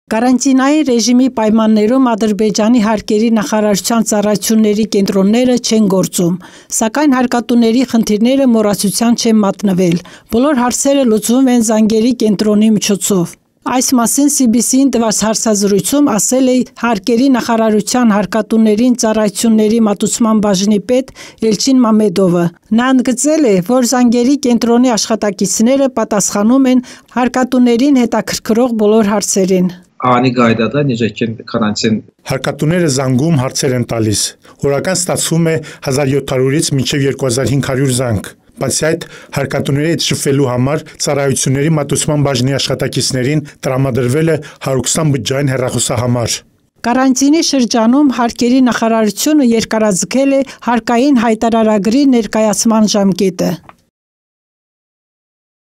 Կարանտինային ռեժիմի պայմաններում Ադրբեջանի հարկերի նախարարության ծառայությունների կենտրոնները չեն գործում, սակայն հարկատուների խնդիրները մոռացության չեն մատնվել, բոլոր հարցերը լուծվում են զանգերի կենտրոնի միջոցով։ Այս մասին CBC-ին տված հարցազրույցում ասել է հարկերի նախարարության հարկատուներին ծառայությունների մատուցման բաժնի պետ Էլչին Մամեդովը։ Նա ընդգծել է, որ զանգերի կենտրոնի աշխատակիցները պատասխանում են հարկատուներին հետաքրքրող բոլոր հարցերին։ Հարկատուները զանգում հարցեր են տալիս։ Օրական ստացվում է 1700-ից մինչև 2500 զանգ։ Բացի այդ, հարկատուների հետ շփվելու համար ծառայությունների մատուցման բաժնի աշխատակիցներին տրամադրվել է 120 բջջային հեռախոսահամար։ Կարանտինի շրջանում հարկերի նախարարությունը երկարաձգել է հարկային հայտարարագրի ներկայացման ժամկետը։